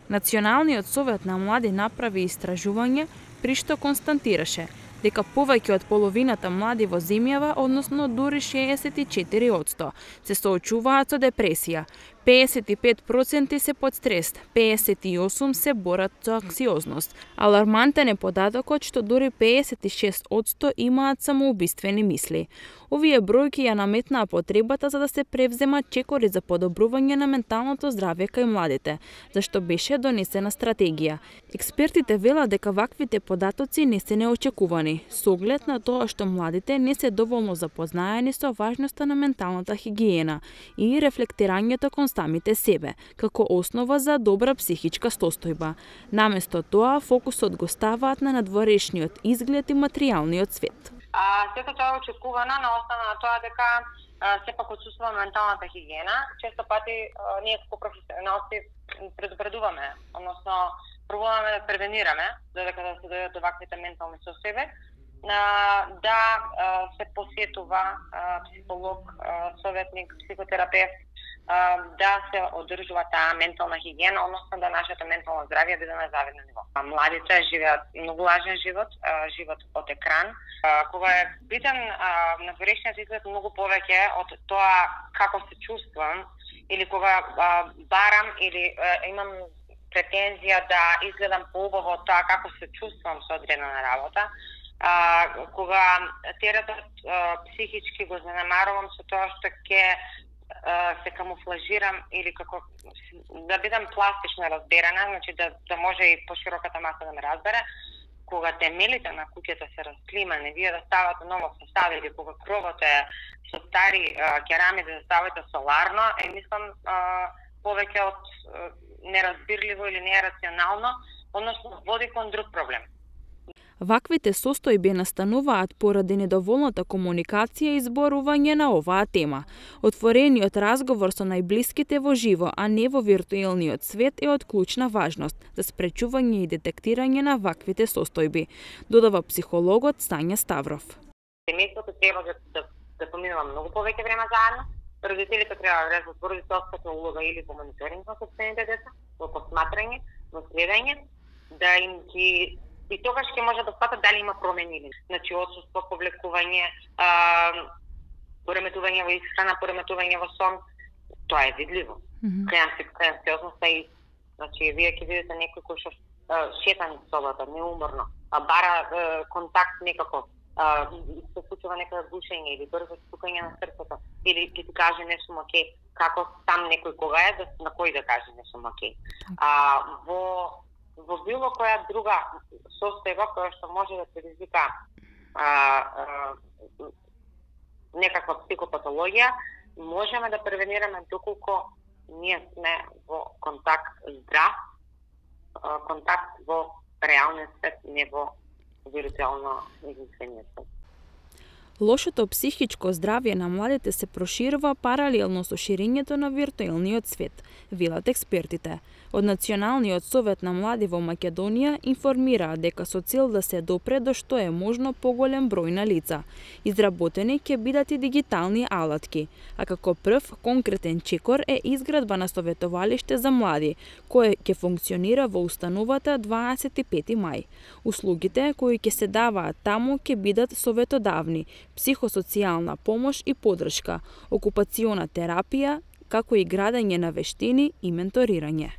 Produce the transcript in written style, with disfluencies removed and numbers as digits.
Националниот совет на млади направи истражување при што констатираше дека повеќе од половината млади во земјава, односно дури 64%, се соочуваат со депресија, 55% се под стрес, 58% се борат со анксиозност. Алармантен е податокот што дури 56% имаат самоубиствени мисли. Овие бројки ја наметнаа потребата за да се превземат чекори за подобрување на менталното здравје кај младите, зашто беше донесена стратегија. Експертите велат дека ваквите податоци не се неочекувани, со оглед на тоа што младите не се доволно запознаени со важноста на менталната хигиена и рефлектирањето кон самите себе, како основа за добра психичка состојба. Наместо тоа, фокусот го ставаат на надворешниот изглед и материјалниот свет. Сето тоа е очекувано на основа на тоа дека сепак отсуствува менталната хигиена. Често пати ние како професионалци предупредуваме, односно пробуваме да превенираме додека да се дојдат до ваквите ментални состојби, да се посетува психолог, советник, психотерапевт, да се одржува таа ментална хигиена, односно да нашето ментално здравје биде на завидно ниво. Младите живеат многу важен живот, живот од екран, кога е битен надворешниот изглед многу повеќе од тоа како се чувствувам или кога барам или имам претензија да изгледам поубаво од тоа како се чувствувам со одредена работа, кога теретот психички го занемарувам со тоа што ќе се камуфлажирам или како да бидам пластично разберана, значи да може и пошироката маса да ме разбере, кога темелите на куќата се расклимани, вие да ставате ново составите, кога кровот е со стари керамиди да ставате соларно, мислам повеќе од неразбирливо или нерационално, односно води кон друг проблем. Ваквите состојби настануваат поради недоволната комуникација и зборување на оваа тема. Отворениот разговор со најблиските во живо, а не во виртуелниот свет е од клучна важност за спречување и детектирање на ваквите состојби, додава психологот Сања Ставров. Семејството треба да поминува многу повеќе време заедно. Родителите треба да влезат во родителската улога или во мониторинг на сопствените деца, во посматрање, во следење, да им ги и тогаш ќе може да сватат дали има промени или. Значи, отсуство, повлекување, пореметување во исхрана, пореметување во сон, тоа е видливо. Анксиозноста и, значи, вие ќе видите некој кој што шета низ собата, неуморно, бара контакт некако, се случува некоја гушење или брзо стукање на срцето, или ќе ти каже не сум окей, како сам некој кога е, на кој да каже не сум окей. Во било која друга состојба која што може да предизвика некаква психопатологија, можеме да превенираме доколку ние сме во контакт здрав, контакт во реалниот свет, не во виртуелно измислениот свет. Лошото психичко здравје на младите се проширува паралелно со ширењето на виртуелниот свет, велат експертите. Од Националниот совет на млади во Македонија информираат дека со цел да се допре до што е можно поголем број на лица, изработени ќе бидат и дигитални алатки, а како прв конкретен чекор е изградба на советовалиште за млади, кое ќе функционира во установата 25 мај. Услугите кои ќе се даваат таму ќе бидат советодавни, психосоцијална помош и поддршка, окупациона терапија, како и градење на вештини и менторирање.